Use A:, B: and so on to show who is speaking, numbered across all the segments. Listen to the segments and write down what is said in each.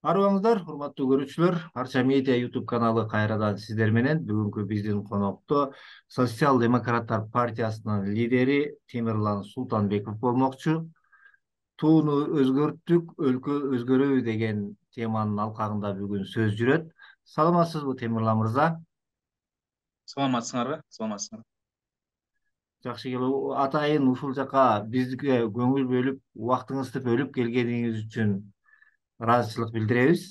A: Арыбаңыздар, урматтуу көрүүчүлөр. Арча медиа YouTube каналы кайрадан сиздер менен. Бүгүнкү биздин конокто Социал-демократтар партиясынын лидери Темирлан Султанбеков болмокчу. Тууну өзгөрттүк, өлкө өзгөрөбү деген теманын алкагында бүгүн сөз жүрөт. Саламатсызбы, Темирлан мырза?
B: Саламатсыңарбы? Саламатсыңар.
A: Жакшы келип атайын ушул жака бизге көңүл бөлүп, убактыңызды бөлүп келгениңиз үчүн ыраазычылык билдиребиз.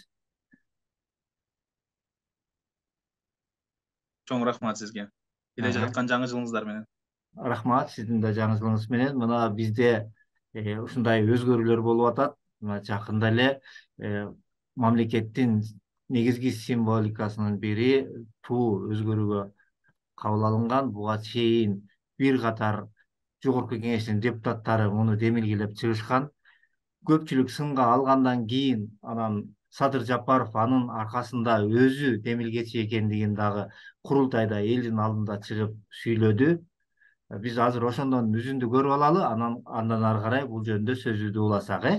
B: Чоң рахмат сизге. Келе жаткан жаңы жылыңыздар менен.
A: Рахмат, сиздин да жаңы жылыңыз менен. Мына бизде ушундай өзгөрүүлөр болуп атат. Мына жакында эле мамлекеттин негизги символикасынын бири туу өзгөрүүгө кабыл алынган. Буга чейин бир катар жогорку кеңештин депутаттары муну демилгелеп чыгышкан. Көпчүлүк сынга алгандан кийин анан Садыр Жапаров анын аркасында өзү демилгечи экендигин дагы курултайда элдин алдында чыгып сүйлөдү. Биз азыр ошондон үзүндү көрүп алалы, андан ары карай бул жөнүндө сөзүбүздү уласак,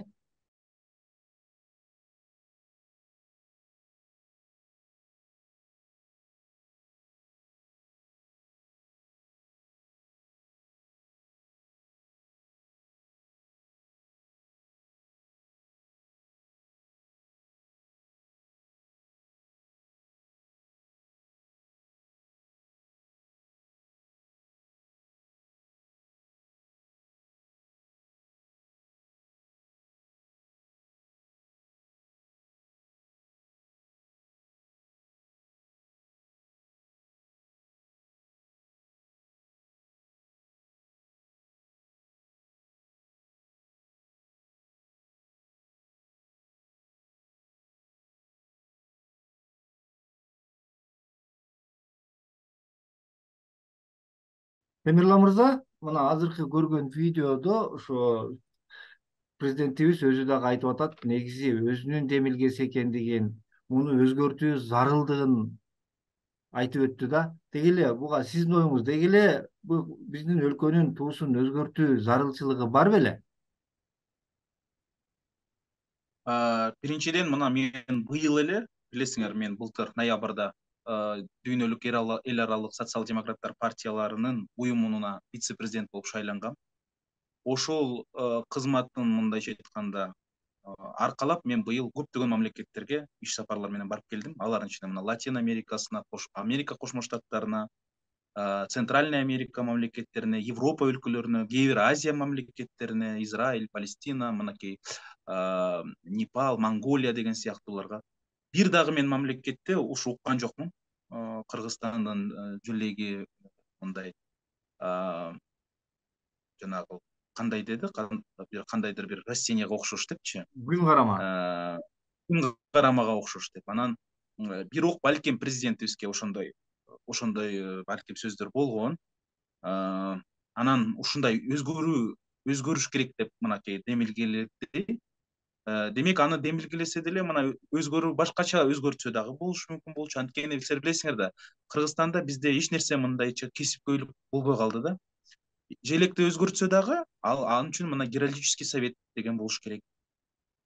A: Темирлан мырза, мына азыркы көргөн видеодо ошо президентибиз өзү дагы айтып атат, негизи өзүнүн демилгеси экендигин, муну өзгөртүү зарылдыгын айтып өттү да. Деги эле буга сиздин оюңуз, деги эле бул биздин өлкөнүн туусун өзгөртүү зарылчылыгы бар беле?
B: Биринчиден мына мен быйыл эле, билесиңер, мен былтыр ноябрда дүйнөлүк эл аралык социал-демократтар партияларынын уюмуна вице-президент болуп шайлангам. Ошол кызматтын мындайча айтканда аркалап мен быйыл көптөгөн мамлекеттерге иш сапарлар менен барып келдим. Алардын ичинде мына Латин Америкасына, Америка Кошмо Штаттарына, Центральная Америка мамлекеттерине, Европа өлкөлөрүнө, кээ бир Азия мамлекеттерине, Израиль, Палестина, мынакей Непал, Монголия деген сыяктууларга. Бир дагы мен мамлекетте ушу уккан жокмун. Кыргызстандын жилеги мындай жанагы кандай деди, кандайдыр бир растенияга окшош депчи.
A: Күн карама.
B: Күн карамага окшош деп. Анан бирок балким президентибизге ошондой балким сөздөр болгон. Анан ушундай өзгөрүш керек деп мынакей демилгеледи. Демек аны демилгелесе деле мына өзгөрүү башкача өзгөртсө дагы болушу мүмкүн болчу. Анткени силер билесиңер да, Кыргызстанда бизде эч нерсе мындайча кесипкөйлүк болбой калды да. Желекти өзгөртсө дагы ал үчүн мына геральдический совет деген болуш керек.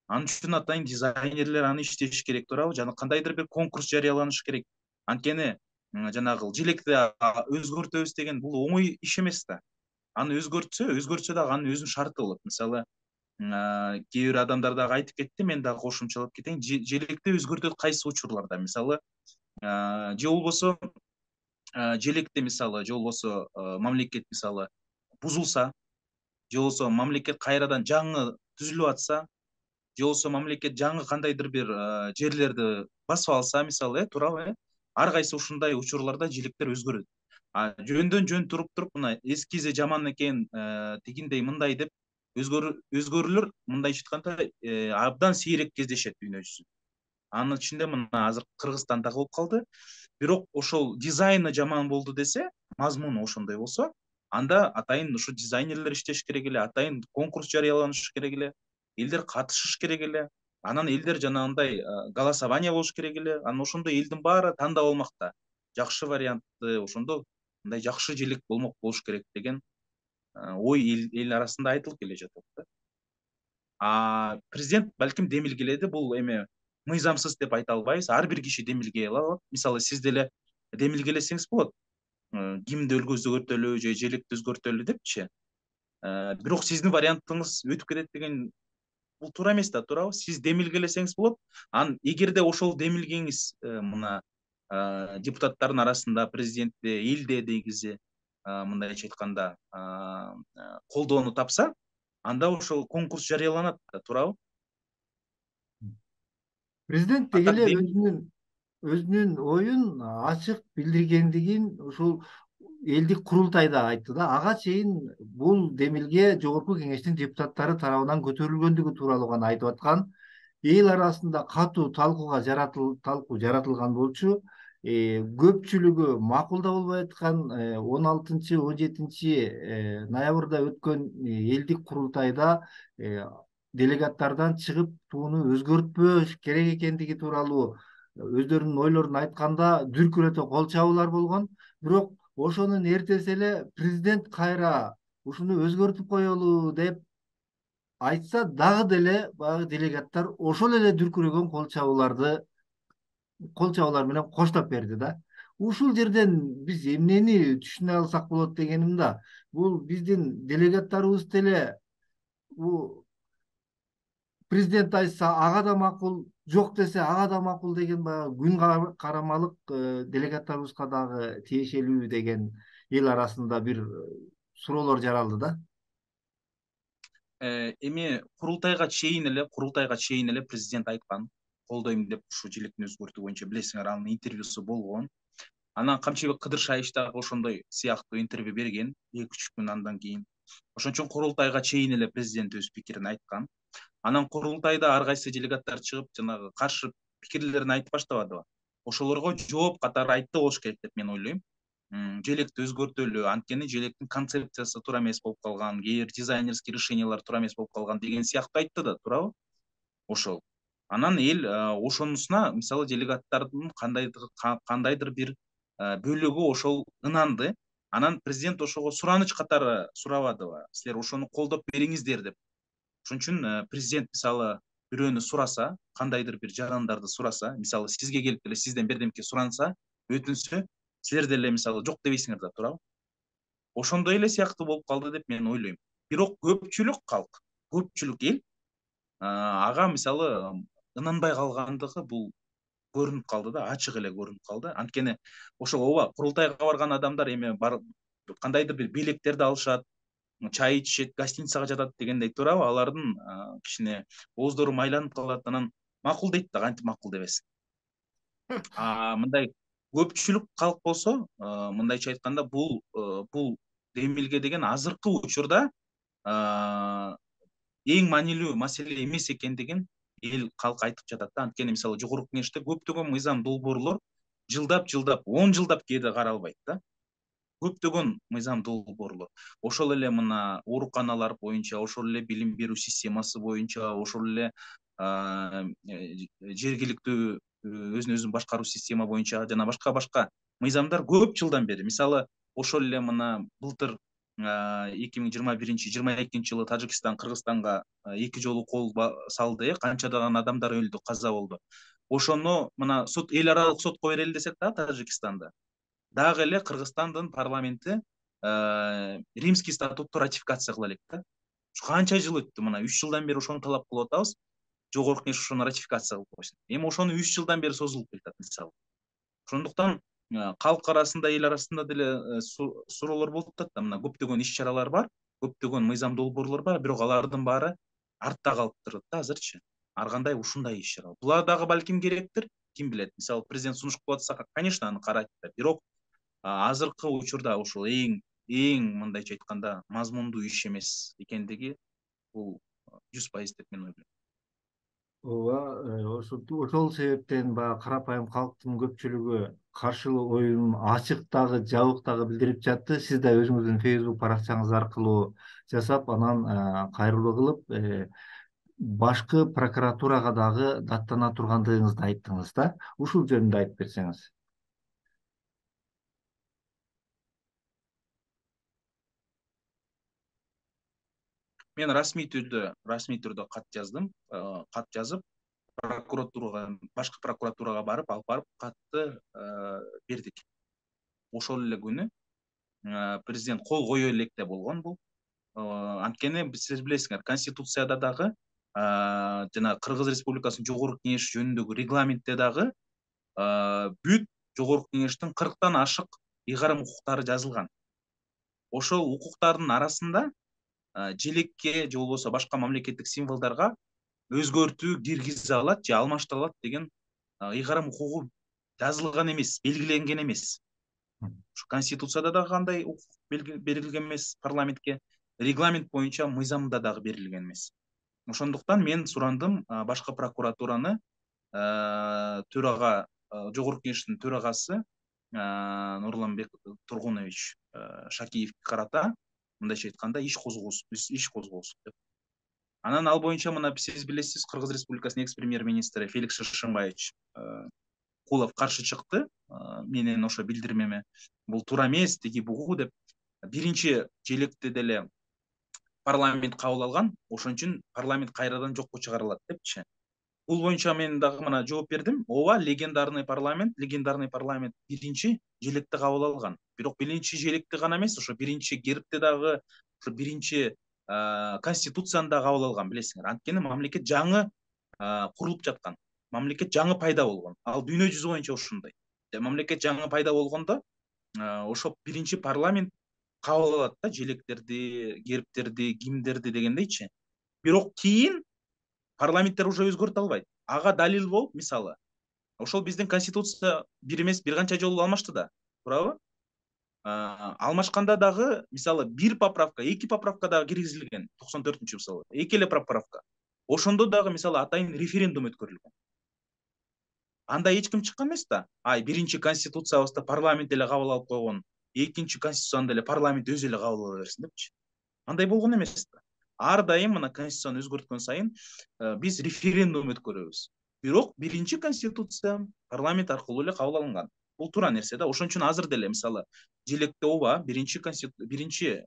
B: Анын үчүн атайын дизайнерлер аны иштеш керек, туурабы? Жана кандайдыр бир конкурс жарыяланыш керек. Анткени жанагы желекти өзгөртөбүз деген бул оңой иш эмес да. Аны өзгөртсө дагы анын өзүнүн шарты болот. Мисалы, кээ бир адамдар дагы айтып кетти, мен дагы кошумчалап кетейин. Желекти өзгөртөт кайсы учурларда? Мисалы, же болбосо желекте мисалы, же болбосо мамлекет мисалы бузулса, же болбосо мамлекет кайрадан жаңы түзүлүп атса, же болбосо мамлекет жаңы кандайдыр бир жерлерди басып алса, мисалы, туурабы? Ар кайсы ушундай учурларда желектер өзгөрөт. Жөндөн жөн туруп мына эскизи жаман экен, тигиндей мындай деп өзгөрүүлөр мындайча айтканда абдан сейрек кездешет дүйнө жүзүндө. Анын ичинде мына азыр Кыргызстанда болуп калды. Бирок ошол дизайны жаман болду десе, мазмуну ошондой болсо, анда атайын ушу дизайнерлер иштеш керек эле, атайын конкурс жарыяланыш керек эле, элдер катышыш керек эле. Анан элдер жанагындай голосование болуш керек эле. Анан ошондо элдин баары тандап алмак да. Жакшы вариантты, ошондо мындай жакшы желек болмок болуш керек деген ой эл арасында айтылып келе жатат да. Президент балким демилгеледи, бул эме мыйзамсыз деп айта албайбыз. Ар бир киши демилгей алат. Мисалы сиз деле демилгелесеңиз болот. Гимнди өзгөртөлү же желекти өзгөртөлү депчи. Бирок сиздин вариантыңыз өтүп кетет деген бул туура эмес да, туурабы? Сиз демилгелесеңиз болот. Эгерде ошол демилгеңиз мына депутаттардын арасында, президентте, элде негизи мындайча айтканда колдоону тапса, анда ошол конкурс жарыяланат да, туурабы?
A: Президент
B: А
A: деги
B: так
A: эле өзүнүн оюн ачык билдиргендигин ушул элдик курултайда айтты да. Ага чейин бул демилге жогорку кеңештин депутаттары тарабынан көтөрүлгөндүгү тууралуу гана айтып аткан. Эл арасында катуу талкуу жаратылган болчу. Көпчүлүгү макулда болбой аткан 16 17 ноябрда өткөн элдик курултайда делегаттардан чыгып тууну өзгөртпөш керек экендиги тууралуу өздөрүнүн ойлорун айтканда дүркүрөтө кол чабуулар болгон. Бирок ошонун эртеси эле президент кайра ушуну өзгөртүп коелу деп айтса, дагы деле баягы делегаттар ошол эле дүркүрөгөн кол чабуулар менен коштоп берди да. Ушул жерден биз эмнени түшүнө алсак болот дегеним да. Бул биздин делегаттарыбыз деле президент айтса ага да макул, жок десе ага да макул деген баягы күн карамалык делегаттарыбызга дагы тиешелүү деген эл арасында бир суроолор жаралды да.
B: Эми курултайга чейин эле президент айткан, колдойм деп ушу желектин өзгөртүү боюнча, билесиңер, анын интервьюсу болгон. Анан Камчыбек Кыдыршаевич дагы ошондой сыяктуу интервью берген 2-3 күн андан кийин. Ошон үчүн курултайга чейин эле президент өз пикирин айткан. Анан курултайда ар кайсы делегаттар чыгып, жанагы каршы пикирлерин айтып баштабадыбы? Ошолорго жооп катары айтты болуш керек деп мен ойлойм. Желекти өзгөртөлү, анткени желектин концепциясы туура эмес болуп калган, кээ бир дизайнерский решениялар туура эмес болуп калган деген сыяктуу айтты да, туурабы? Ошол. Анан эл ошонусуна, мисалы, делегаттардын кандайдыр бир бөлүгү ошол ынанды. Анан президент ошого сураныч катары сурабадыбы? Силер ошону колдоп бериңиздер деп. Ошон үчүн президент, мисалы, бирөөнү сураса, кандайдыр бир жарандарды сураса, мисалы, сизге келип деле сизден бирдемке суранса, өтүнсө, силер деле мисалы жок дебейсиңер да, туурабы? Ошондой эле сыяктуу болуп калды деп мен ойлойм. Бирок көпчүлүк эл ага мисалы ынанбай калгандыгы бул көрүнүп калды да, ачык эле көрүнүп калды. Анткени ошол ооба, курултайга барган адамдар эми кандайдыр бир белектерди алышат, чай ичишет, гостиницага жатат дегендей, туурабы? Алардын кичине ооздору майланып калат, анан макул дейт да, кантип макул дебесин. Мындай көпчүлүк калк болсо, мындайча айтканда, бул демилге деген азыркы учурда эң маанилүү маселе эмес экендигин эл калк айтып жатат да. Анткени мисалы жогорку кеңеште көптөгөн мыйзам долбоорлор жылдап 10 жылдап кээде каралбайт да. Көптөгөн мыйзам долбоорлор. Ошол эле мына ооруканалар боюнча, ошол эле билим берүү системасы боюнча, ошол эле жергиликтүү өзүн өзү башкаруу система боюнча жана башка мыйзамдар көп жылдан бери. Мисалы, ошол эле мына былтыр 2021-22 жылы Тажикстан Кыргызстанга 2 жолу кол салды, канчадаган адамдар өлдү, каза болду. Ошону мына эл аралык сотко берели десек да, Тажикстанда дагы эле Кыргызстандын парламенти Римский статутту ратификация кыла элек да. Канча жыл өттү, мына 3 жылдан бери ошону талап кылып атабыз. Жогорку кеңеш ошону ратификация кылып койсун. Эми ошону 3 жылдан бери созулуп келатат, мисалы. Ошондуктан калк арасында, эл арасында деле суроолор болуп атат да. Мына көптөгөн иш-чаралар бар, көптөгөн мыйзам долбоорлор бар, бирок алардын баары артта калып турат да азырчы. Ар кандай ушундай иш-чара. Булар дагы балким керектир, ким билет. Мисалы, президент сунуш кылып атса, конечно, аны карайт да. Бирок азыркы учурда ушул эң мындайча айтканда мазмундуу иш эмес экендиги бул 100% деп мен ойлойм.
A: Ооба, ошол себептен баягы карапайым калктын көпчүлүгү каршылык оюн ачык дагы жабык дагы билдирип жатты. Сиз да өзүңүздүн Facebook баракчаңыз аркылуу жасап, анан кайрылуу кылып, башкы прокуратурага дагы даттана тургандыгыңызды айттыңыз да. Ушул жөнүндө айтып берсеңиз.
B: Мен расмий түрдө кат жаздым. Кат жазып, башкы прокуратурага барып, алып барып катты бердик. Ошол эле күнү президент кол кое электе болгон бул. Анткени сиз билесиңер, Конституцияда дагы жана Кыргыз Республикасынын Жогорку Кеңеши жөнүндөгү регламентте дагы бүт Жогорку Кеңештин 40тан ашык ыйгарым укуктары жазылган. Ошол укуктардын арасында желекке же болбосо башка мамлекеттик символдорго өзгөртүү киргизе алат же алмаштыра алат деген ыйгарым укугу жазылган эмес, белгиленген эмес. Конституцияда дагы кандай укук берилген эмес парламентке, регламент боюнча мыйзамда дагы берилген эмес. Ошондуктан мен сурандым башкы прокуратураны төрага, Жогорку Кеңештин төрагасы Нурланбек Тургунович Шакиевке карата мындайча айтканда иш козгосун деп. Анан ал боюнча мына сиз билесиз, Кыргыз Республикасынын экс-премьер-министри Феликс Шишимбаевич Кулов каршы чыкты менен ошо билдирмеме. Бул туура эмес, тиги бугу деп. Биринчи желекте деле парламент кабыл алган, ошон үчүн парламент кайрадан жокко чыгарылат депчи. Бул боюнча мен дагы мына жооп бердим. Ооба, легендарный парламент биринчи желекте кабыл алган. Бирок биринчи желекте гана эмес, ошо биринчи гербте дагы, ошо биринчи конституцияны да кабыл алган, билесиңер. Анткени мамлекет жаңы курулуп жаткан. Мамлекет жаңы пайда болгон. Ал дүйнө жүзү боюнча ошондой. Мамлекет жаңы пайда болгондо ошо биринчи парламент кабыл алат да желектерди, гербтерди, гимндерди дегендейчи. Бирок кийин парламенттер уже өзгөртө албайт. Ага далил болуп, мисалы, ошол биздин конституция бир эмес, бир канча жолу алмашты да, туурабы? Алмашканда дагы, мисалы, 1 поправка, 2 поправка дагы киргизилген, 94-чү мисалы, 2 эле поправка. Ошондо дагы, мисалы, атайын референдум өткөрүлгөн. Анда эч ким чыккан эмес да. Биринчи конституциябызды парламент эле кабыл алып койгон, экинчи конституцияны деле парламент өзү эле кабыл ала берсин депчи. Андай болгон эмес да. Ар дайым мына конституцияны өзгөрткөн сайын биз референдум өткөрөбүз. Бирок биринчи конституция парламент аркылуу эле кабыл алынган. Бул туура нерсе да. Ошон үчүн азыр деле, мисалы, желекте ооба биринчи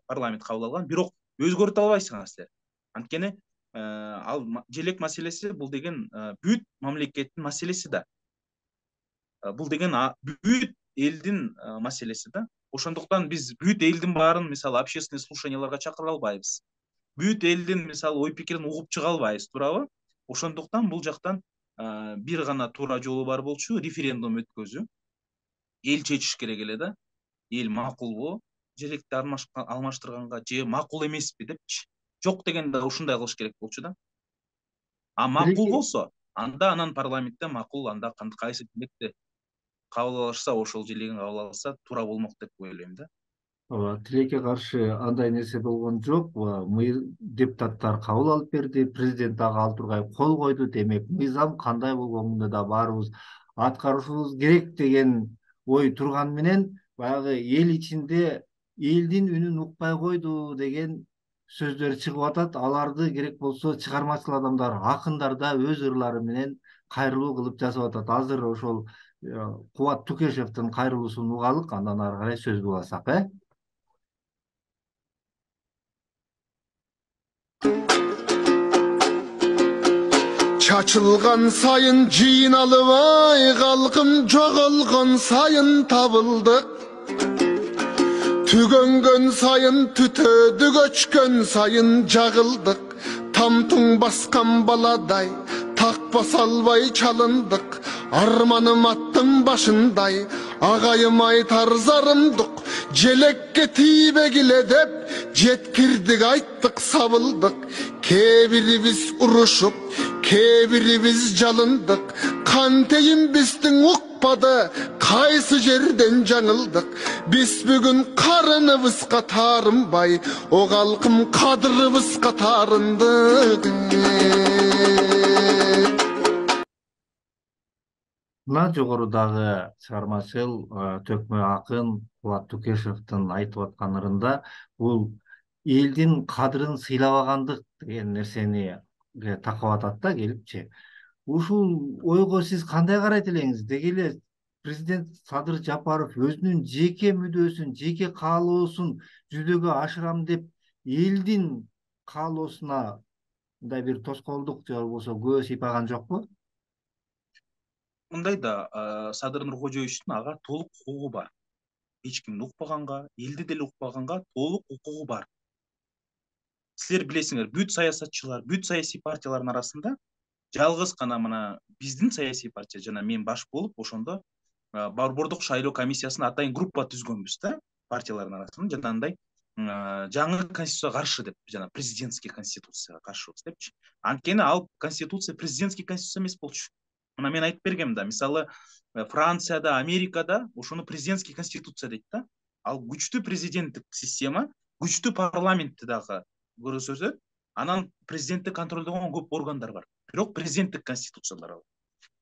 B: парламент кабыл алган, бирок өзгөртө албайсыңар силер. Анткени ал желек маселеси бул деген бүт мамлекеттин маселеси да. Бул деген бүт элдин маселеси да. Ошондуктан биз бүт элдин баарын, мисалы, общественный слушанияларга чакыра албайбыз. Бүт элдин, мисалы, ой пикирин угуп чыга албайбыз, туурабы? Ошондуктан бул жактан бир гана туура жолу бар болчу, референдум өткөзүү. Эл чечиш керек эле да. Эл макулбу желекти алмаштырганга же макул эмеспи депчи. Жок дегенде ушундай кылыш керек болчу да. Макул болсо, анда анан парламентте макул, анда кайсы желекти кабыл алышса, ошол желегин кабыл алса туура болмок деп ойлойм да.
A: Ооба, тилекке каршы андай нерсе болгон жок. Депутаттар кабыл алып берди, президент дагы ал тургай кол койду. Демек, мыйзам кандай болгонун да баарыбыз аткарышыбыз керек деген ой турган менен, баягы эл ичинде элдин үнүн укпай койду деген сөздөр чыгып атат. Аларды керек болсо чыгармачыл адамдар, акындар да өз ырлары менен кайрылуу кылып жазып атат. Азыр ошол Кубат Тукешевдин кайрылуусун угалык, андан ары карай сөздү уласак,
C: Çaçılgan sayın jıynalıp ay kalkım жоголгон sayın табылдык. Түгөнгөн сайын түтөдү көчкөн сайын жагылдык. Тамтың баскан баладай такпа салбай чалындык. Арманым аттың башындай агайым айтар зарымдык. Желекке тийбегиле деп жеткирдик, айттык, сабылдык. Кээ-бирибиз урушуп, кээ-бирибиз жалындык. Кантейин биздин укпады, кайсы жерден жаңылдык. Биз бүгүн карыныбызга таарынбай, о калкым кадырыбызга таарындык.
A: Мына жогорудагы чыгармачыл төкмө акын Кубат Тукешевдин айтып аткан ырында бул элдин кадырын сыйлабагандык деген нерсени такап атат да келипчи. Ушул ойго сиз кандай карайт элеңиз? Деги эле президент Садыр Жапаров өзүнүн жеке мүдөөсүн, жеке каалоосун жүзөгө ашырам деп элдин каалоосуна мындай бир тоскоолдук же болбосо күбө сыйпаган жокпу?
B: мындай да, Садыр Нуркожоевичтин ага толук укугу бар. Эч кимди укпаганга, элди деле укпаганга толук укугу бар. Силер билесиңер, бүт саясатчылар, бүт саясий партиялардын арасында жалгыз гана мына биздин саясий партия жана мен баш болуп ошондо борбордук шайлоо комиссиясына атайын группа түзгөнбүз да, партиялардын арасында жанагындай жаңы конституцияга каршы деп, жана президентский конституцияга каршыбыз депчи. Анткени ал конституция президентский конституция эмес болчу. Мына мен айтып бергем да, мисалы Францияда, Америкада ошону президентский конституция дейт да. Ал күчтүү президенттик система, күчтүү парламентти дагы көрсөтөт. Анан президентти контролдогон көп органдар бар. Бирок президенттик конституциялар ал.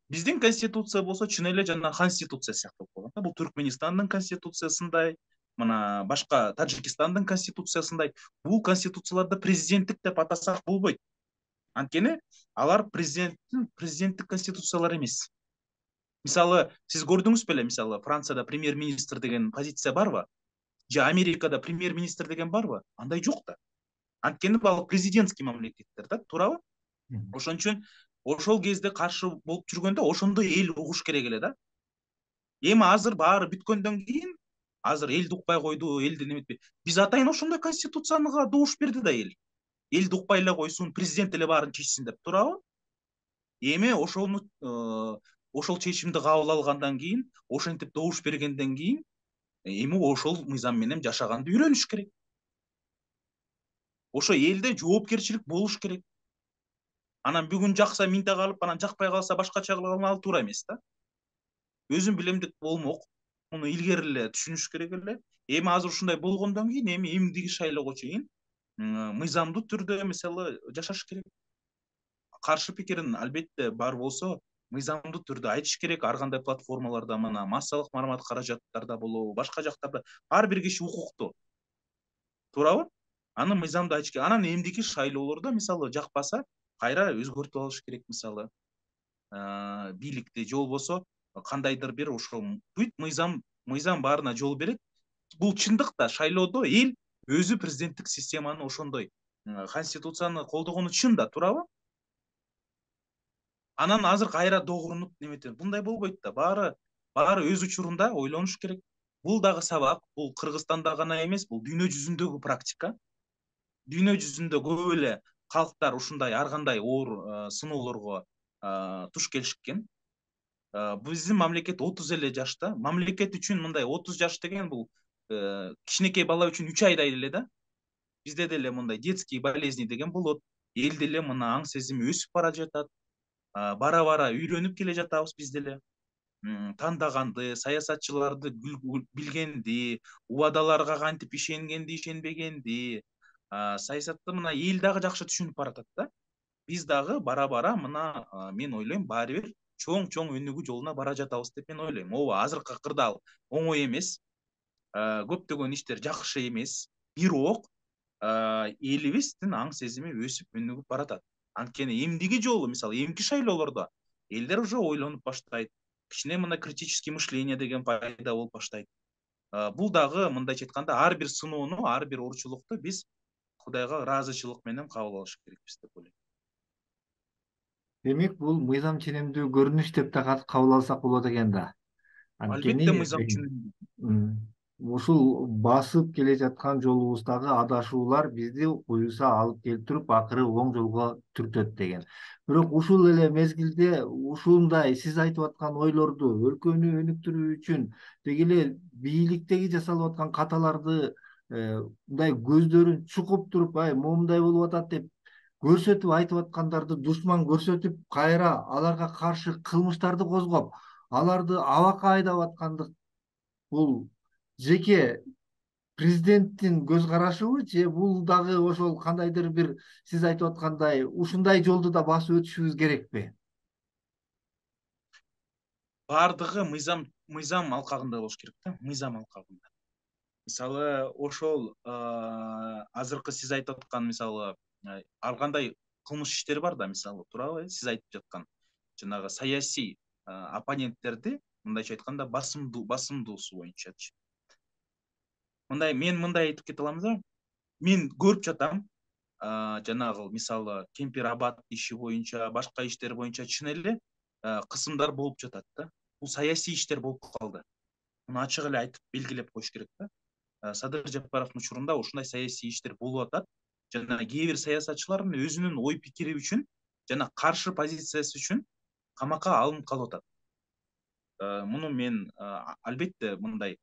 B: Биздин конституция болсо чын эле жана конституция сыяктуу болгон. Бул Түркмөнстандын конституциясындай, мына башка Тажикстандын конституциясындай бул конституцияларда президенттик деп атасак болбойт. Анткени алар президенттик конституциялар эмес. Мисалы, сиз көрдүңүз беле, мисалы Францияда премьер-министр деген позиция барбы? Же Америкада премьер-министр деген барбы? Андай жок да. Анткени ал президентский мамлекеттер да, туурабы? Ошон үчүн ошол кезде каршы болуп жүргөндө ошондо эл угуш керек эле да. Эми азыр баары бүткөндөн кийин, азыр элди укпай койду, элди неметпей. Биз атайын ошондой конституцияга добуш берди да эл. Элди укпай эле койсун, президент эле баарын чечсин деп, туурабы? Эми ошол чечимди кабыл алгандан кийин, ошентип добуш бергенден кийин, эми ошол мыйзам менен жашаганды үйрөнүш керек. Ошо элде жоопкерчилик болуш керек. Анан бүгүн жакса минте калып, анан жакпай калса башкача кылган ал туура эмес да. Өзүн билем деп болмок. Муну илгери эле түшүнүш керек эле. Эми азыр ушундай болгондон кийин, эми эмдиги шайлоого чейин мыйзамдуу түрдө мисалы жашаш керек. Каршы пикирин албетте бар болсо, мыйзамдуу түрдө айтыш керек. Ар кандай платформаларда, мына массалык маалымат каражаттарда болобу, башка жактарда ар бир киши укуктуу. Туурабы? Аны мыйзамда айтыш керек. Анан эмдиги шайлоолордо мисалы жакпаса, кайра өзгөртүп алыш керек, мисалы бийликти, же болбосо кандайдыр бир ошол бүт мыйзам баарына жол берет. Бул чындык да, шайлоодо эл өзү президенттик системаны ошондой конституцияны колдогону чын да, туурабы? Анан азыр кайра догурунуп неметет. Мындай болбойт да. Баары өз учурунда ойлонуш керек. Бул дагы сабак, бул Кыргызстанда гана эмес, бул дүйнө жүзүндөгү практика. Дүйнө жүзүндө көп эле калктар ушундай ар кандай оор сыноолорго туш келишкен. Биздин мамлекет 30 эле жашта. Мамлекет үчүн мындай 30 жаш деген бул кичинекей бала үчүн 3 айдай эле да. Бизде деле мындай детские болезни деген болот. Эл деле мына аң сезими өсүп бара жатат. Бара үйрөнүп келе жатабыз биз деле. Тандаганды, саясатчыларды билгенди, убадаларга кантип ишенгенди, ишенбегенди, саясатты мына эл дагы жакшы түшүнүп баратат да. Биз дагы бара мына мен ойлойм баары бир чоң өнүгүү жолуна бара жатабыз деп мен ойлойм. Ооба, азыркы акырда ал оңой эмес. Көптөгөн иштер жакшы эмес. Бирок элибиздин аң сезими өсүп өнүгүп баратат. Анткени эмдиги жолу, мисалы эмки шайлоолордо элдер уже ойлонуп баштайт. Кичине мына критический мышление деген пайда болуп баштайт. Бул дагы мындайча айтканда ар бир сыноону, ар бир оорчулукту биз Кудайга ыраазычылык менен кабыл алыш керекпиз деп ойлойм.
A: Демек, бул мыйзам ченемдүү көрүнүш деп да кабыл алсак болот экен да.
B: Албетте мыйзам ченемдүү.
A: Ушул басып келе жаткан жолубуздагы адашуулар бизди буюрса алып келип туруп акыры оң жолго түртөт деген. Бирок ушул эле мезгилде ушундай сиз айтып аткан ойлорду өлкөнү өнүктүрүү үчүн деги эле бийликтеги жасалып аткан каталарды мындай көздөрүн чукуп туруп, момундай болуп атат деп көрсөтүп айтып аткандарды душман көрсөтүп, кайра аларга каршы кылмыштарды козгоп, аларды абакка айдап аткандык бул жеке президенттин көз карашыбы, же бул дагы ошол кандайдыр бир сиз айтып аткандай ушундай жолду да басып өтүшүбүз керекпи?
B: Баардыгы мыйзам алкагында болуш керек да, мыйзам алкагында. Мисалы ошол азыркы сиз айтып аткан мисалы ар кандай кылмыш иштер бар да, мисалы, туурабы? Сиз айтып жаткан жанагы саясий оппоненттерди мындайча айтканда басымдуусу боюнчачы. Мен мындай айтып кете алам да. Мен көрүп жатам, жанагы мисалы Кемпир Абад иши боюнча, башка иштер боюнча чын эле кысымдар болуп жатат да. Бул саясий иштер болуп калды. Муну ачык эле айтып белгилеп коюш керек да. Садыр Жапаровдун учурунда ушундай саясий иштер болуп атат. Жана кээ бир саясатчылардын өзүнүн ой пикири үчүн жана каршы позициясы үчүн камакка алынып калып атат. Муну мен албетте мындай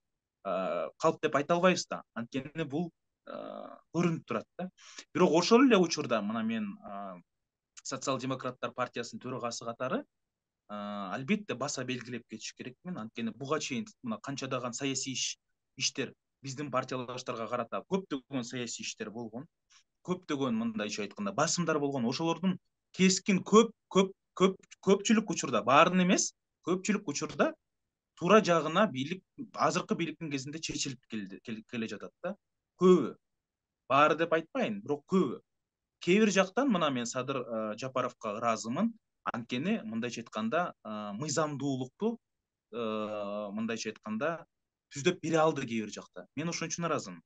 B: калп деп айта албайбыз да. Анткени бул көрүнүп турат да. Бирок ошол эле учурда мына мен социал-демократтар партиясынын төрагасы катары албетте баса белгилеп кетиш керекмин. Анткени буга чейин мына канчадаган саясий иштер биздин партиялаштарга карата көптөгөн саясий иштер болгон. Көптөгөн мындайча айтканда басымдар болгон. Ошолордун кескин көпчүлүк учурда, баарын эмес, көпчүлүк учурда туура жагына бийлик азыркы бийликтин кезинде чечилип келе жатат да. Көбү. Баары деп айтпайын, бирок көбү. Кээ бир жактан мына мен Садыр Жапаровго ыраазымын. Анткени мындайча айтканда мыйзамдуулукту мындайча айтканда түздөп бере алды кээ бир жакта. Мен ошон үчүн ыраазымын.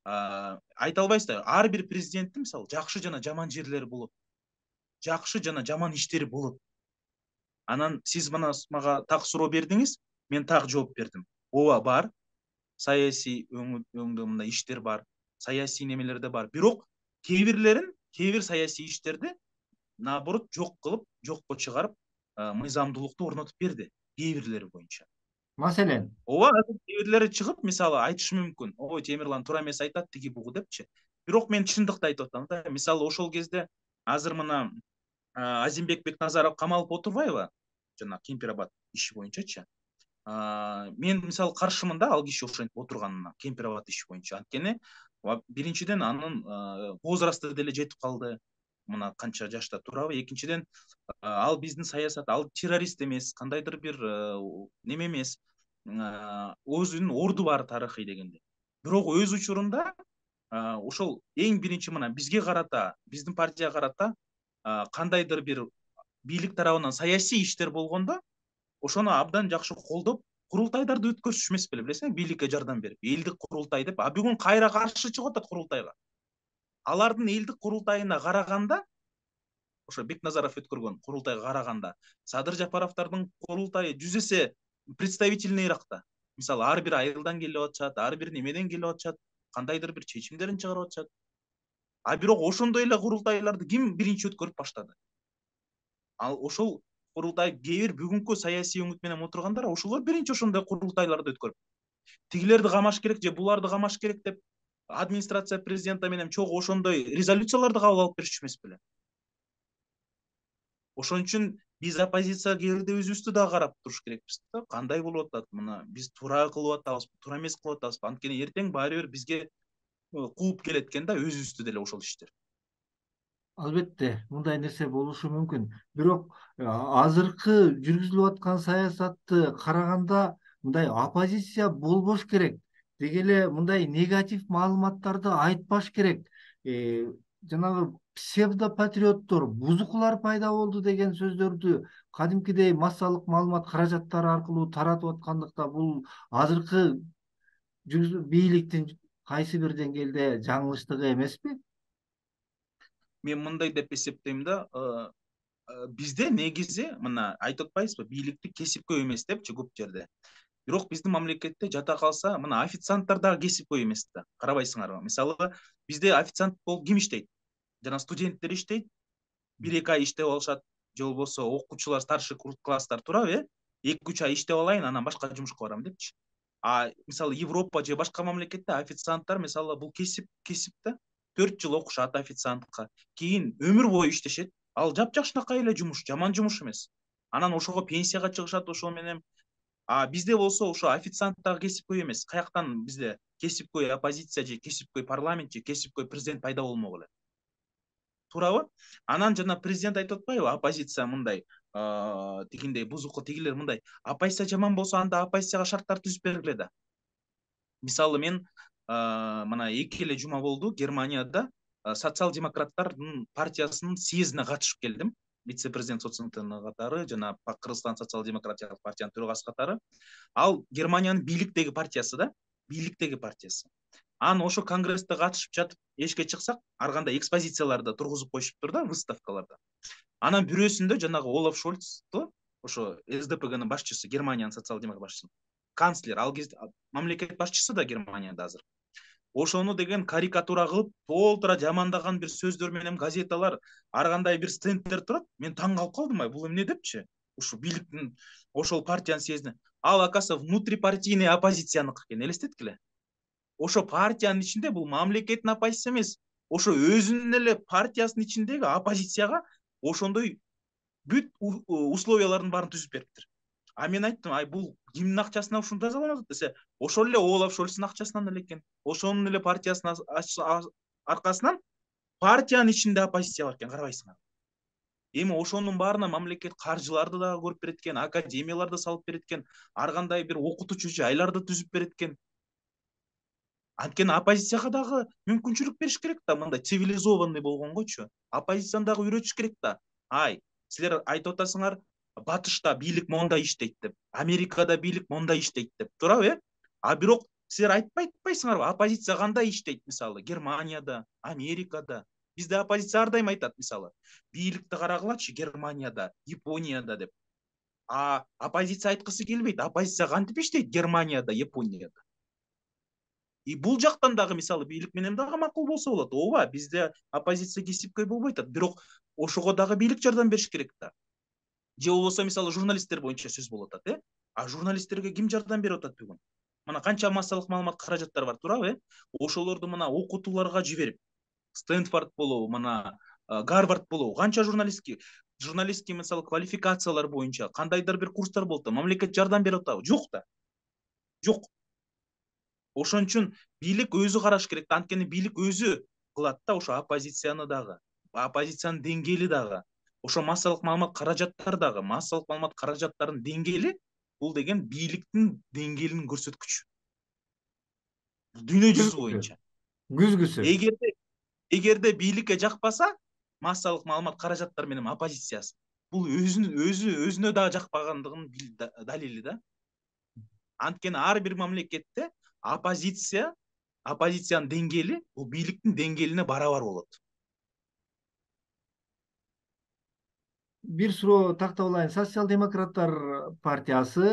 B: Айта албайсыз да, ар бир президенттин мисалы жакшы жана жаман жерлери болот. Жакшы жана жаман иштери болот. Анан сиз мага так суроо бердиңиз, мен так жооп бердим. Ооба бар. Саясий өңдө мындай иштер бар, саясий немелер да бар. Бирок кээ бир саясий иштерди наоборот жок кылып, жокко чыгарып, мыйзамдуулукту орнотуп берди кээ бирлери боюнча.
A: Маселен,
B: Ооба, кээ бирлери чыгып, мисалы айтышы мүмкүн. Ой, Темирлан туура эмес айтат тиги бугу депчи. Бирок мен чындыкты айтып атам да. Мисалы ошол кезде азыр мына Азимбек Бекназаров камалып отурбайбы? Жана Кемпирабад иши боюнчачы. Мен мисалы каршымын да ал киши ошентип отурганына, Кемпирабад иши боюнча. Анткени биринчиден анын возрасты деле жетип калды. Мына канча жашта турабы? Экинчиден ал биздин саясат, ал террорист эмес, кандайдыр бир неме эмес. Өзүнүн орду бар тарыхый дегенде. Бирок өз учурунда ошол эң биринчи мына бизге карата, биздин партияга карата кандайдыр бир бийлик тарабынан саясий иштер болгондо ошону абдан жакшы колдоп, курултайларды өткөрүшүш эмес беле, билесиңби, бийликке жардам берип, элдик курултай деп, бүгүн кайра каршы чыгып атат курултайга. Алардын элдик курултайына караганда, ошо Бекназаров өткөргөн курултайга караганда, Садыр Жапаровдордун курултайы 100 эсе представительныйракта. Мисалы, ар бир айылдан келип атышат, ар бир немеден келип атышат, кандайдыр бир чечимдерин чыгарып атышат. Бирок ошондой эле курултайларды ким биринчи өткөрүп баштады? Ал ошол курултай кээ бир бүгүнкү саясий өңүт менен отургандар ошолор биринчи ошондой курултайларды өткөрүп, тигилерди камаш керек же буларды камаш керек деп администрация президента менен чогуу ошондой резолюцияларды кабыл алып беришчү эмес беле? Ошон үчүн биз оппозиция кээ өзүбүздү да карап туруш керекпиз да. Кандай болуп атат? Мына биз туура кылып атабызбы, туура эмес кылып атабызбы? Анткени эртең баары бир бизге кууп келет экен да өзүбүздү деле ошол иштер.
A: албетте мындай нерсе болушу мүмкүн. Бирок азыркы жүргүзүлүп аткан саясатты караганда мындай оппозиция болбош керек. Деги эле мындай негатив маалыматтарды айтпаш керек. Жанагы псевдопатриоттор, бузукулар пайда болду деген сөздөрдү кадимкидей массалык маалымат каражаттары аркылуу таратып аткандыкта бул азыркы бийликтин кайсы бир деңгээлде жаңылыштыгы эмеспи?
B: Мен мындай деп эсептейм да, бизде негизи мына айтып атпайбызбы, бийликти кесипкөй эмес депчи көп жерде. Бирок биздин мамлекетте жата калса, мына официанттар дагы кесипкөй эмес да. Карабайсыңарбы? Мисалы, бизде официант болуп ким иштейт? Жана студенттер иштейт, 1-2 ай иштеп алышат, же болбосо окуучулар, старший класстар турабы, 2-3 ай иштеп алайын, анан башка жумушка барам депчи. Мисалы Европа же башка мамлекетте официанттар мисалы бул кесип да. 4 жыл окушат официантка, кийин өмүр бою иштешет. Ал жапжакшынакай эле жумуш, жаман жумуш эмес. Анан ошого пенсияга чыгышат ошол менен. Бизде болсо ошо официант дагы кесипкөй эмес. Каяктан бизде кесипкөй оппозиция же кесипкөй парламент же кесипкөй президент пайда болмок эле? Туурабы? Анан жана президент айтып атпайбы, оппозиция мындай тигиндей бузуку, тигилер мындай. Оппозиция жаман болсо анда оппозицияга шарттар түзүп бергиле да. Мисалы мен мына 2 эле жума болду Германияда социал-демократтардын партиясынын съездине катышып келдим. Вице-президент соцсыңтыны катары жана Кыргызстан социал-демократиялык партиянын төрагасы катары. Ал Германиянын бийликтеги партиясы да, бийликтеги партиясы. Анан ошо конгрессте катышып жатып, эшикке чыксак, ар кандай экспозицияларды тургузуп коюшуптур да, выставкаларда. Анан бирөөсүндө жанагы Олаф Шольцту ошо СДПГнын башчысы, Германиянын социал-демократ башчысы, канцлер, ал кезде мамлекет башчысы да Германияда азыр. Ошону деген карикатура кылып, толтура жамандаган бир сөздөр менен газеталар, ар кандай бир стенддер турат. Мен таң калып калдым, бул эмне депчи? Ушу бийликтин, ошол партиянын съездине. Ал оказывается внутрипартийный оппозицияныкы экен, элестеткиле. Ошо партиянын ичинде, бул мамлекеттин оппозиция эмес, ошо өзүнүн эле партиясынын ичиндеги оппозицияга ошондой бүт условиялардын баарын түзүп бериптир. А мен айттым, бул кимдин акчасына ушуну тазаланып атат десе, ошол эле Олаф Шольцтун акчасынан эле экен. Ошонун эле партиясынын аркасынан партиянын ичинде оппозиция бар экен, карабайсыңар. Эми ошонун баарына мамлекет каржыларды дагы көрүп берет экен, академияларды салып берет экен, ар кандай бир окутуучу жайларды түзүп берет экен. Анткени оппозицияга дагы мүмкүнчүлүк бериш керек да, мындай цивилизованный болгонгочу. Оппозицияны дагы үйрөтүш керек да. Силер айтып атасыңар, Батышта бийлик мондай иштейт деп, Америкада бийлик мондай иштейт деп, туурабы? Бирок силер айтпайсыңарбы, оппозиция кандай иштейт, мисалы, Германияда, Америкада. Бизде оппозиция ар дайым айтат, мисалы, бийликти карагылачы Германияда, Японияда деп. Оппозиция айткысы келбейт, оппозиция кантип иштейт Германияда, Японияда. Бул жактан дагы, мисалы, бийлик менен дагы макул болсо болот. Ооба, бизде оппозиция кесипкөй болбой атат, бирок ошого дагы бийлик жардам бериш керек да. Же болбосо, мисалы, журналисттер боюнча сөз болуп атат, журналисттерге ким жардам берип атат бүгүн? Мына канча массалык маалымат каражаттары бар, туурабы? Ошолорду мына окутууларга жиберип, Стэнфорд болобу, мына Гарвард болобу, канча журналистский, мисалы, квалификациялар боюнча кандайдыр бир курстар болуп да, мамлекет жардам берип атабы? Жок да. Жок. Ошон үчүн бийлик өзү караш керек да, анткени бийлик өзү кылат да ошо оппозицияны дагы, оппозициянын деңгээли дагы, ошо массалык маалымат каражаттары дагы, массалык маалымат каражаттарынын деңгээли, бул деген бийликтин деңгээлинин көрсөткүчү. Дүйнө жүзү боюнча.
A: Күзгүсү.
B: Эгерде бийликке жакпаса, массалык маалымат каражаттары менен оппозициясы, бул өзүнө дагы жакпагандыгынын далили да. Анткени ар бир мамлекетте оппозициянын деңгээли бул бийликтин деңгээлине барабар болот.
A: Бир суроо тактап алайын. Социал-демократтар партиясы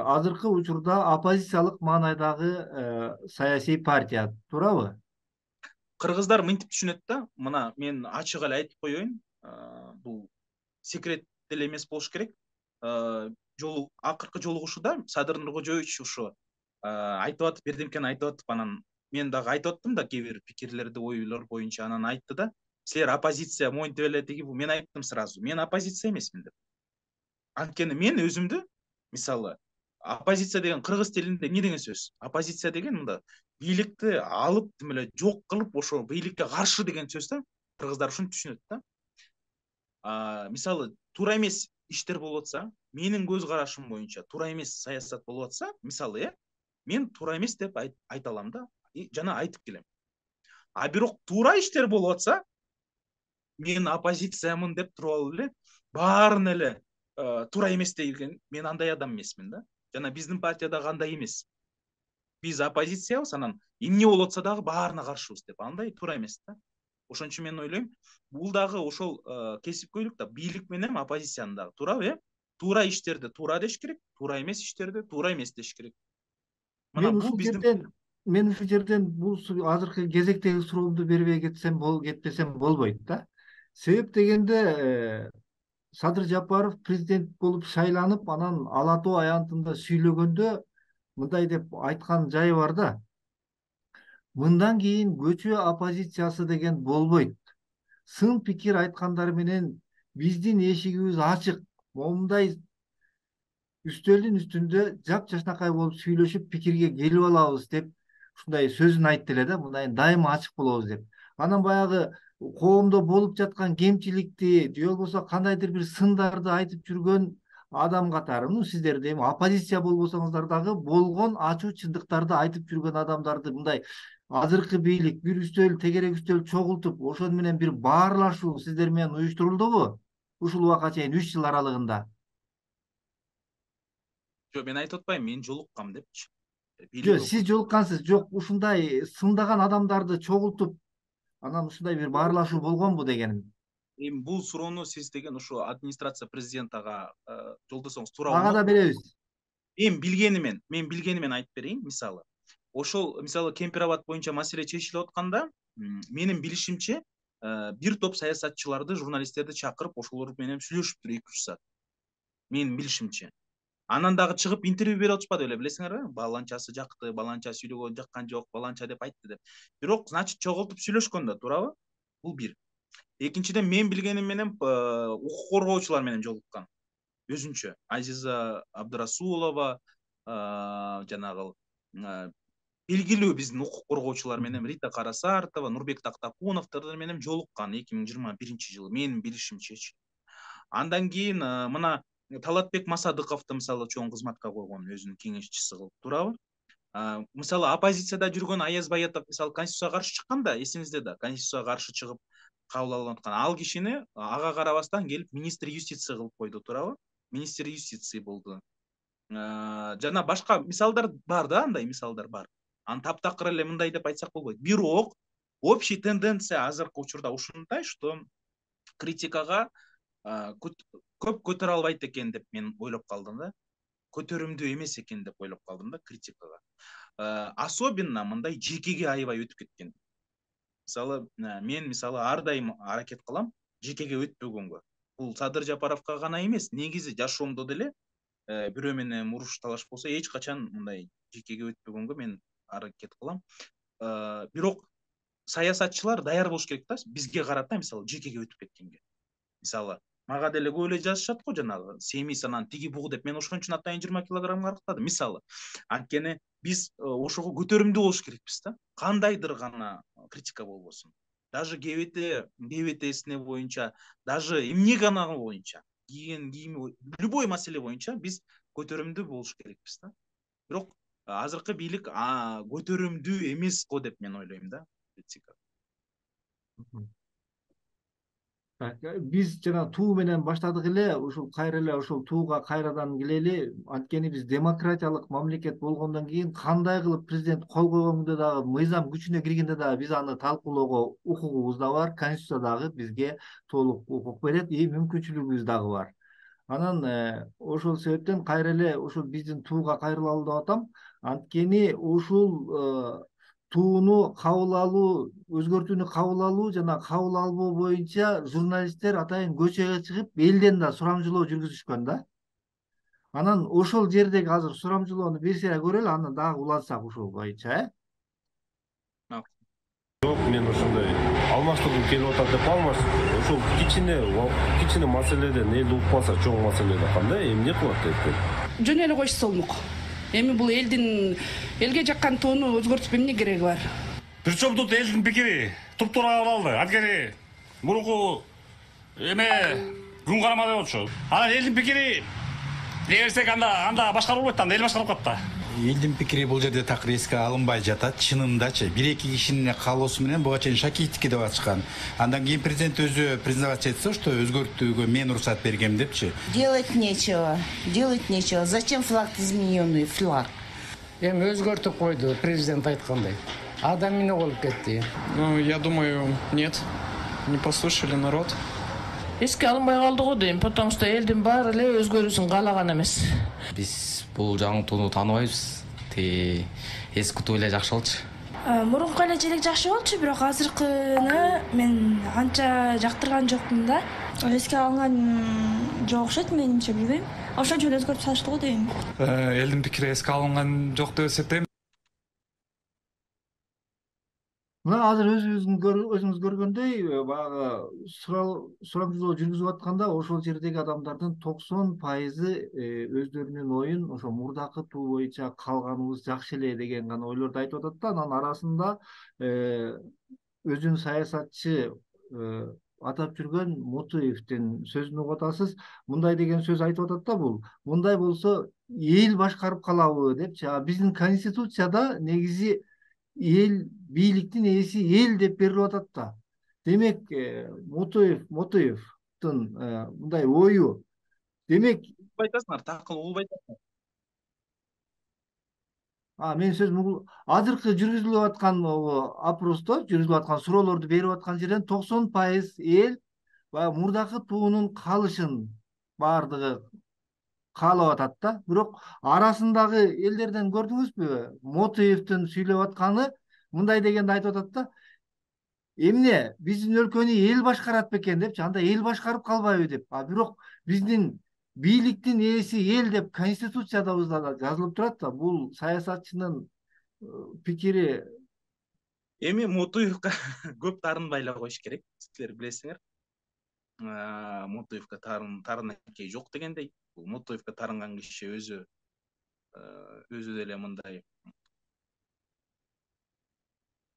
A: азыркы учурда оппозициялык маанайдагы саясий партия, туурабы?
B: Кыргыздар мынтип түшүнөт да, мына мен ачык эле айтып коеюн, бул секрет деле эмес болуш керек. Акыркы жолугушууда Садыр Нуркожоевич ушу айтып атып, бирдемкени айтып атып, анан мен дагы айтып аттым да кээ бир пикирлерди, ойлор боюнча, анан айтты да, силер оппозиция моинтип эле тиги, мен айттым сразу, мен оппозиция эмесмин деп. Анткени мен өзүмдү, мисалы, оппозиция деген кыргыз тилинде эмне деген сөз? Оппозиция деген мында бийликти алып, тим эле жок кылып, ошо бийликке каршы деген сөз да. Кыргыздар ушуну түшүнөт да. Мисалы, туура эмес иштер болуп атса, менин көз карашым боюнча туура эмес саясат болуп атса, мисалы, мен туура эмес деп айта алам да, жана айтып келем. Бирок туура иштер болуп атса, мен оппозициямын деп туруп алып эле баарын эле туура эмес деген, мен андай адам эмесмин да. Жана биздин партияда кандай эмес. Биз оппозициябыз, анан эмне болуп атса дагы баарына каршыбыз деп, андай туура эмес да. Ошон үчүн мен ойлойм, бул дагы ошол кесипкөйлүк да, бийлик менен оппозициянын дагы, туурабы? Туура иштерди туура деш керек, туура эмес иштерди туура эмес деш керек.
A: Мен ушул жерден бул азыркы кезектеги суроомду бербей кетпесем болбойт да. Себеп дегенде Садыр Жапаров президент болуп шайланып, анан Ала Тоо аянтында сүйлөгөндө мындай деп айткан жайы бар да. Мындан кийин көчө оппозициясы деген болбойт. Сын пикир айткандар менен биздин эшигибиз ачык. Момундай үстөлдүн үстүндө жапжашнакай болуп сүйлөшүп пикирге келип алабыз деп ушундай сөзүн айтты эле да, мындай дайыма ачык болобуз деп. Анан баягы коомдо болуп жаткан кемчиликти же болбосо кандайдыр бир сындарды айтып жүргөн адам катары, сиздер эми оппозиция болбосоңуздар дагы болгон ачуу чындыктарды айтып жүргөн адамдарды мындай азыркы бийлик бир үстөл, тегерек үстөл чогултуп, ошон менен бир баарлашуу сиздер менен уюштурулдубу ушул убакка чейин 3 жыл аралыгында?
B: Жок, мен айтып атпайм, мен жолуккам депчи.
A: Жок, сиз жолуккансыз. Жок, ушундай сындаган адамдарды чогултуп, анан ушундай бир баарлашуу болгонбу дегеним.
B: эми бул суроону сиз деген ушу администрация президентага жолдосоңуз туура
A: ага да
B: болмок.
A: беребиз.
B: Мен билгенимен айтып берейин. Мисалы, ошол Кемпир-Абад боюнча маселе чечилип атканда, менин билишимче, бир топ саясатчыларды, журналисттерди чакырып, ошолор менен сүйлөшүптүр 2-3 саат. Менин билишимче. Анан дагы чыгып интервью берип атышпады беле, билесиңерби? Баланчасы жакты, баланча сүйлөгөн жаккан жок, баланча деп айтты деп. Бирок, значит, чогултуп сүйлөшкөн да, туурабы? Бул бир. Экинчиден, мен билгеним менен укук коргоочулар менен жолуккан. Өзүнчө Азиза Абдырасулова, жанагы белгилүү биздин укук коргоочулар менен Рита Карасартова, Нурбек Тактакуновдор менен жолуккан 2021-жылы, менин билишимчечи. Андан кийин мына Талатбек Масадыковду чоң кызматка койгон, өзүнүн кеңешчиси кылып, туурабы? Оппозицияда жүргөн Аяз Баятов Конституцияга каршы чыкканда, эсиңизде да, Конституцияга каршы чыгып кабыл алынып аткан. Ал кишини ага карабастан келип министр юстиция кылып койду, туурабы? Министр юстиции болду. Жана башка мисалдар бар да, андай мисалдар бар. Аны таптакыр эле мындай деп айтсак болбойт. Бирок общий тенденция азыркы учурда ушундай, что критикага көп көтөрө албайт экен деп мен ойлоп калдым да. Көтөрүмдүү эмес экен деп ойлоп калдым да критикага. Особенно мындай жекеге аябай өтүп кеткен. Мен ар дайым аракет кылам жекеге өтпөгөнгө. Бул Садыр Жапаровго гана эмес, негизи жашоомдо деле бирөө менен муруш талаш болсо эч качан мындай жекеге өтпөгөнгө мен аракет кылам. Бирок саясатчылар даяр болуш керек да, бизге карата жекеге өтүп кеткенге. Мага деле көп эле жазышат го, жанагы семиз анан тиги бугу деп. Мен ошон үчүн атайын 20 килограммга арыктадым. Анткени биз ошого көтөрүмдүү болуш керекпиз да. Кандайдыр гана критика болбосун. Даже ГБТсине боюнча, даже эмне гана боюнча, кийими, любой маселе боюнча биз көтөрүмдүү болуш керекпиз да. Бирок азыркы бийлик көтөрүмдүү эмес го деп мен ойлойм да, критика.
A: Биз жана туу менен баштадык эле, ушул кайра эле ушул тууга кайрадан келели. Анткени биз демократиялык мамлекет болгондон кийин кандай кылып президент кол койгондо дагы, мыйзам күчүнө киргенде дагы биз аны талкуулоого укугубуз да бар. Конституция дагы бизге толук укук берет, мүмкүнчүлүгүбүз дагы бар. Анан ошол себептен кайра эле ушул биздин тууга кайрылалы деп атам. Анткени ушул тууну кабыл алуу, өзгөртүүнү кабыл алуу жана кабыл албоо боюнча журналисттер атайын көчөгө чыгып, элден да сурамжылоо жүргүзүшкөн да. Анан ошол жердеги азыр сурамжылоону бир сыйра көрөлү, анан дагы улантсак ушул боюнча,
D: Жок, мен ошондой алмаштыргым келип атат деп алмаш. Ошол кичине маселеден эл укпаса, чоң маселеде кандай эмне кылат деп.
E: Жөн эле койсо болмок. Эми бул элге жаккан тоону өзгөртүп эмне кереги бар?
F: Причем тут элдин пикири туп-туура кабыл алды. Анткени мурунку күн карама деп атчу. Анан элдин пикири берсек анда башкарып болбойт, анда эл башкарып калат да.
G: Элдин пикири бул жерде такыр эске алынбай жатат. Чынындачы 1-2 кишинин каалоосу менен буга чейин Шакиевдики деп ачкан. Андан кийин президент өзү признавать этсе, что өзгөртүүгө мен уруксат бергем депчи.
H: Делать нечего. Зачем флаг измененный флаг?
I: Эми өзгөртүп койду, президент айткандай. Адам эмне болуп кетти?
J: Я думаю, нет. Не послушали народ.
K: Эске алынбай калды го дейм, потому что элдин баары эле өзгөрүүсүн каалаган эмес.
L: Биз бул жаңылтууну тааныбайбыз. Эски туу эле жакшы болчу.
M: Мурунку эле желек жакшы болчу, бирок азыркыны мен анча жактырган жокмун да.
N: Эске алынган жок окшойт, менимче, билбейм. Ошончо эле өзгөртүп салыштı го дейм.
J: Элдин пикири эске алынган жок деп эсептейм.
A: Мына азыр өзүңүз көргөндөй, баягы сурамжылоо жүргүзүп атканда ошол жердеги адамдардын 90% өздөрүнүн оюн ошо мурдакы туу боюнча калганыбыз жакшы эле деген гана ойлорду айтып атат да. Анан арасында өзүн саясатчы атап жүргөн Мутуевдин сөзүн угуп атасыз. Мындай деген сөз айтып атат да, бул мындай болсо эл башкарып калабы депчи. Биздин конституцияда негизи эл, бийликтин ээси эл деп берилип атат да. Демек, Мутуевдин мындай ою, демек
B: айтасыңар, такыл угулбай атасыңар.
A: Мен сөзүм азыркы жүргүзүлүп аткан опросто, жүргүзүлүп аткан суроолорду берип аткан жерден 90% эл баягы мурдакы туунун калышын баардыгы каалап атат да. Бирок арасындагы элдерден көрдүңүзбү? Мотоевдин сүйлөп атканы мындай дегенди айтып атат да. Эмне биздин өлкөнү эл башкарат бекен депчи, анда эл башкарып калбайбы деп. Бирок биздин бийликтин ээси эл деп конституциябызда да жазылып турат да. Бул саясатчынын пикири.
B: Эми Мотоевго көп таарынбай эле коюш керек. Силер билесиңер. Мотоевго таарынакей жок дегендей. Бул Мотоевго таарынган киши өзү деле мындай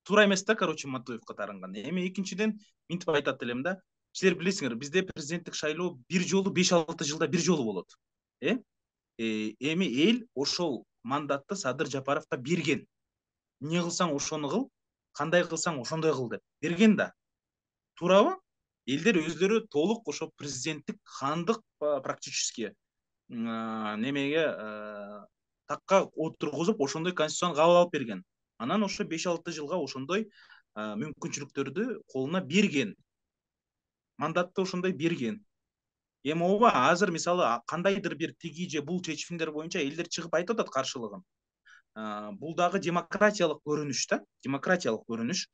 B: туура эмес да, короче, Мотоевго таарынган. Эми экинчиден минтип айтат элем да. Силер билесиңер, бизде президенттик шайлоо бир жолу 5-6 жылда бир жолу болот. Эми эл ошол мандатты Садыр Жапаровго берген. Эмне кылсаң ошону кыл, кандай кылсаң ошондой кыл деп берген да. Туурабы? Элдер өздөрү толук ошо президенттик хандык практически немеге такка отургузуп ошондой конституцияны кабыл алып берген. Анан ошо 5-6 жылга ошондой мүмкүнчүлүктөрдү колуна берген. Мандатты ошондой берген. Эми ооба азыр мисалы кандайдыр бир тиги же бул чечимдер боюнча элдер чыгып айтып атат каршылыгын. Бул дагы демократиялык көрүнүш да, демократиялык көрүнүш.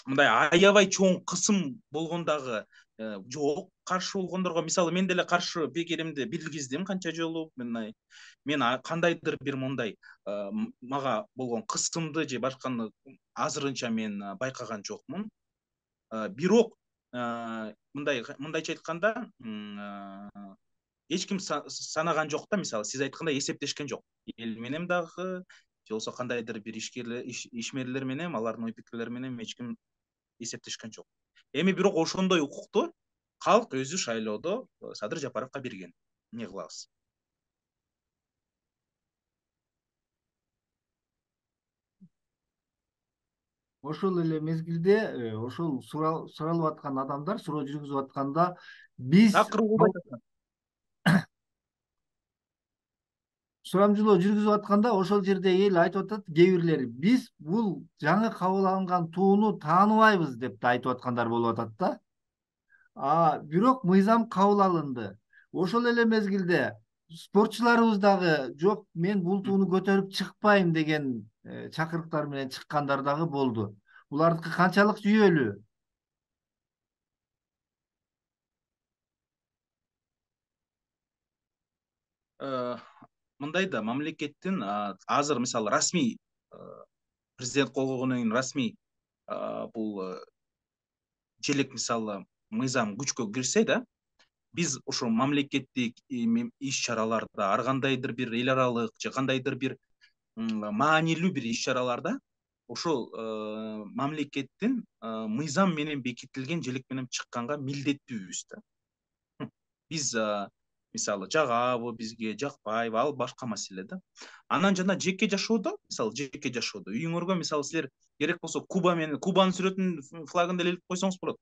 B: Мындай аябай чоң кысым болгондагы жок, каршы болгондорго мисалы мен деле каршы пикиримди билгиздим канча жолу. Мен кандайдыр бир мындай мага болгон кысымды же башканы азырынча мен байкаган жокмун. Бирок мындайча айтканда эч ким санаган жок да, мисалы сиз айткандай эсептешкен жок. Эл менен дагы же болбосо кандайдыр бир ишмерлер менен, алардын ой пикирлери менен эч ким эсептешкен жок. Эми бирок ошондой укукту калк өзү шайлоодо Садыр Жапаровго берген. Эмне кылабыз?
A: Ошол эле мезгилде ошол суралып аткан адамдар суроо жүргүзүп атканда биз сурамжылоо жүргүзүп атканда ошол жерде эл айтып атат, кээ бирлери биз бул жаңы кабыл алынган тууну тааныбайбыз деп да айтып аткандар болуп атат да. Бирок мыйзам кабыл алынды. Ошол эле мезгилде спортчуларыбыз дагы жок, мен бул тууну көтөрүп чыкпайм деген чакырыктар менен чыккандар дагы болду. Булардыкы канчалык жүйөлүү?
B: Мындай да, мамлекеттин азыр мисалы расмий президент кол койгондон кийин расмий бул желек мисалы мыйзам күчкө кирсе да, биз ошо мамлекеттик иш-чараларда, ар кандайдыр бир эл аралык же кандайдыр бир маанилүү бир иш-чараларда ошол мамлекеттин мыйзам менен бекитилген желек менен чыкканга милдеттүүбүз да. Биз мисалы жагабы, бизге жакпайбы, ал башка маселе да. Анан жана жеке жашоодо, мисалы жеке жашоодо үйүңөргө мисалы силер керек болсо Кубанын сүрөтүн, флагын деле илип койсоңуз болот.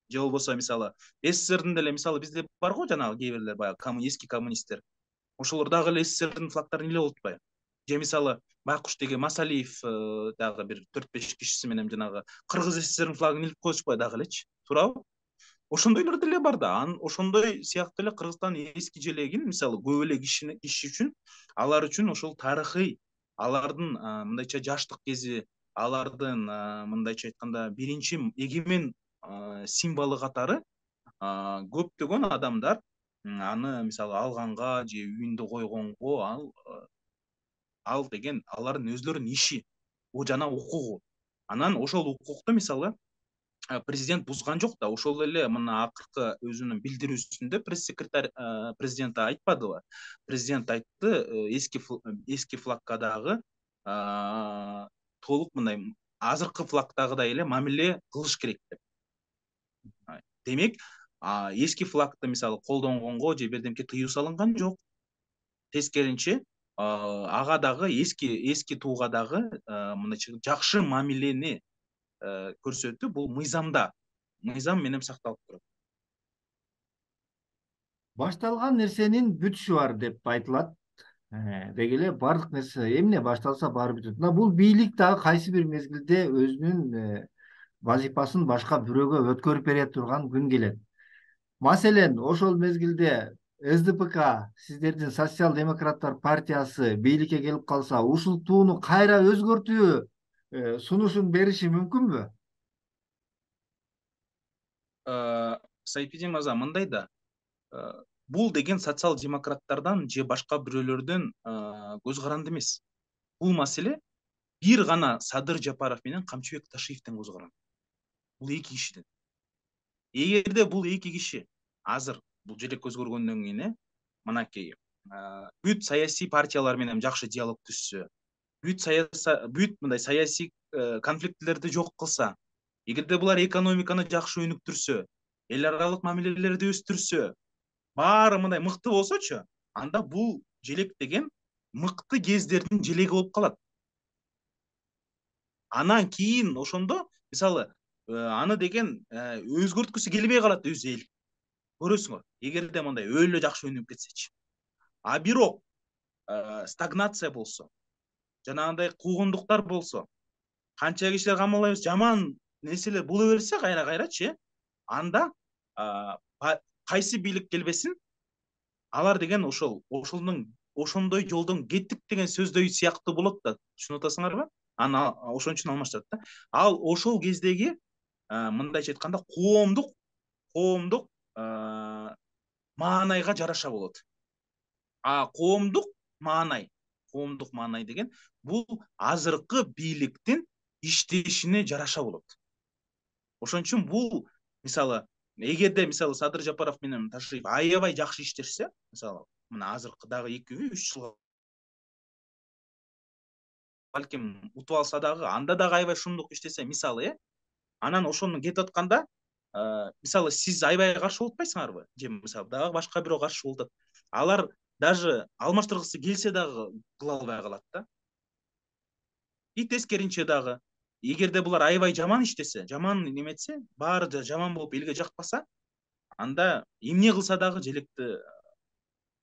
B: Же болбосо мисалы СССРдин деле мисалы бизде бар го жанагы кээ бирлер баягы эски коммунисттер. Ошолор дагы эле СССРдин флагтарын илип атпайбы? Же мисалы Байкуш деген Масалиев дагы бир 4-5 кишиси менен жанагы Кыргыз СССРдин флагын илип коюшпайбы дагы элечи, туурабы? Ошондойлор деле бар да. Ошондой сыяктуу эле Кыргызстандын эски желегин мисалы көп эле киши үчүн, алар үчүн ошол тарыхый, алардын мындайча жаштык кези, алардын мындайча айтканда биринчи эгемен символу катары көптөгөн адамдар аны мисалы алганга же үйүндө койгонго ал деген алардын өздөрүнүн иши, жана укугу. Анан ошол укукту мисалы президент бузган жок да. Ошол эле мына акыркы өзүнүн билдирүүсүндө пресс-секретарь президент айтпадыбы? Президент айтты, эски флагга дагы толук мындай азыркы флагдагыдай эле мамиле кылыш керек деп. Демек, эски флагды мисалы колдонгонго же бирдемке тыюу салынган жок. Тескеринче, ага дагы эски тууга дагы мындайча жакшы мамилени көрсөтүү бул мыйзам менен сакталып турат.
A: Башталган нерсенин бүтүшү бар деп айтылат. Деги эле бардык нерсе эмне башталса баары бүтөт. Бул бийлик дагы кайсы бир мезгилде өзүнүн вазифасын башка бирөөгө өткөрүп бере турган күн келет. Маселен, ошол мезгилде СДПК, сиздердин Социал демократтар партиясы бийликке келип калса, ушул тууну кайра өзгөртүү сунушун бериши мүмкүнбү?
B: Сайпидин мырза, мындай да, бул деген социал демократтардан же башка бирөөлөрдөн көз каранды эмес. Бул маселе бир гана Садыр Жапаров менен Камчыбек Ташиевден көз каранды. Бул эки кишиден. Эгерде бул эки киши азыр бул желек өзгөргөндөн кийин мынакей бүт саясий партиялар менен жакшы диалог түзсө, бүт мындай саясий конфликтлерди жок кылса, эгерде булар экономиканы жакшы өнүктүрсө, эл аралык мамилелерди өстүрсө, баары мындай мыкты болсочу, анда бул желек деген мыкты кездердин желеги болуп калат. Анан кийин ошондо мисалы аны деген өзгөрткүсү келбей калат өзү эл. Көрөсүңөр, эгерде мындай өлө жакшы өнүгүп кетсечи. А бирок стагнация болсо, жанагындай куугундуктар болсо, канча кишилер камалайбыз, жаман нерселер боло берсе кайра-кайрачы, анда кайсы бийлик келбесин, алар деген ошондой жолдон кеттик деген сөздөй сыяктуу болот да, түшүнүп атасыңарбы? Аны ошон үчүн алмаштырат да. Ал ошол кездеги мындайча айтканда коомдук маанайга жараша болот. А коомдук маанай деген бул азыркы бийликтин иштешине жараша болот. Ошон үчүн бул мисалы эгерде мисалы Садыр Жапаров менен Ташиев аябай жакшы иштешсе, мисалы мына азыркы дагы 2-3 жылга балким утуп алса дагы, анда дагы аябай шумдук иштесе, мисалы, анан ошону кетип атканда, мисалы сиз аябай каршы болуп атпайсыңарбы? Же мисалы дагы башка бирөө каршы болуп атат. Алар даже алмаштыргысы келсе дагы кыла албай калат да. И тескеринче дагы, эгерде булар аябай жаман иштесе, жаман неметсе, баары да жаман болуп элге жакпаса, анда эмне кылса дагы желекти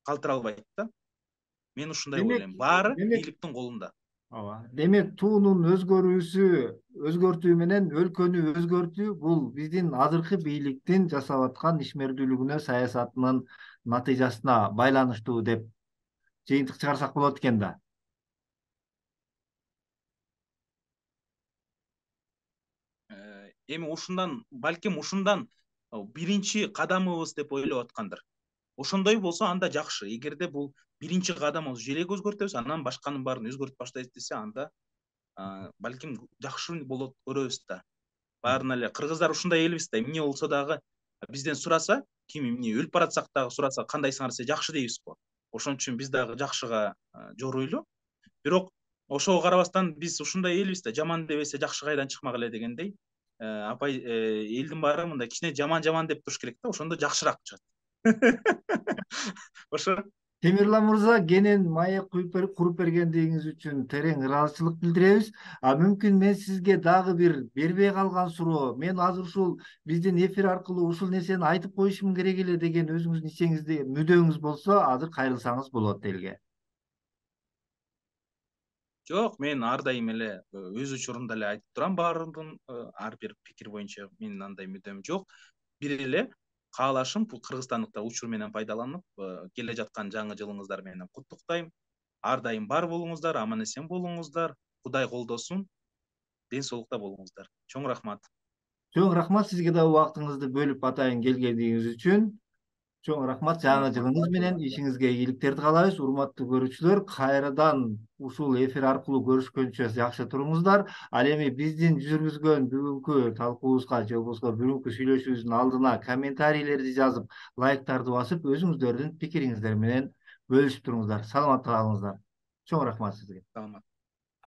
B: калтыра албайт да. Мен ушундай ойлойм. Баары бийликтин колунда.
A: Демек, туунун өзгөртүү менен өлкөнү өзгөртүү бул биздин азыркы бийликтин жасап аткан ишмердүүлүгүнө, саясатынын натыйжасына байланыштуу деп жыйынтык чыгарсак болот экен да.
B: Эми балким ушундан биринчи кадамыбыз деп ойлоп аткандыр. Ошондой болсо анда жакшы. Эгерде бул биринчи кадамыбыз желек өзгөртөбүз, анан башканын баарын өзгөртүп баштайбыз десе, анда балким жакшы болот көрөбүз да. Баарын эле кыргыздар ушундай элбиз да, эмне болсо дагы бизден сураса, ким эмне өлүп баратсак дагы сураса, кандайсыңар десе жакшы дейбиз го. Ошон үчүн биз дагы жакшыга жоруйлу. Бирок ошого карабастан биз ушундай элбиз да, жаман дебесе жакшы кайдан чыкмак эле дегендей. Апай, элдин баары мындай кичине жаман деп туруш керек да, ошондо жакшыраак чыгат. Ошо
A: Темирлан мырза, кенен маек куруп бергендигиңиз үчүн терең ыраазычылык билдиребиз. Мүмкүн мен сизге дагы бир бербей калган суроо, мен азыр ушул биздин эфир аркылуу ушул нерсени айтып коюшум керек эле деген өзүңүздүн ичиңизде мүдөөңүз болсо, азыр кайрылсаңыз болот элге.
B: Жок, мен ар дайым эле өз учурунда эле айтып турам, баардын ар бир пикир боюнча менин андай мүдөм жок. Бир эле каалашым бул кыргызстандыктар учур менен пайдаланып, келе жаткан жаңы жылыңыздар менен куттуктайм. Ар дайым бар болуңуздар, аман эсен болуңуздар. Кудай колдосун. Ден соолукта болуңуздар. Чоң рахмат.
A: Чоң рахмат сизге да убактыңызды бөлүп атайын келгениңиз үчүн. Чоң рахмат, жаңы жылыңыз менен ишиңизге ийгиликтерди каалайбыз. Урматтуу көрүүчүлөр, кайрадан ушул эфир аркылуу көрүшкөнчө жакшы туруңуздар. Ал эми биздин жүргүзгөн бүгүнкү талкуубузга же болбосо бүгүнкү сүйлөшүүбүздүн алдына комментарийлерди жазып, лайктарды басып, өзүңүздөрдүн пикириңиздер менен бөлүшүп туруңуздар. Саламатта калыңыздар. Чоң рахмат сизге.
B: Саламат.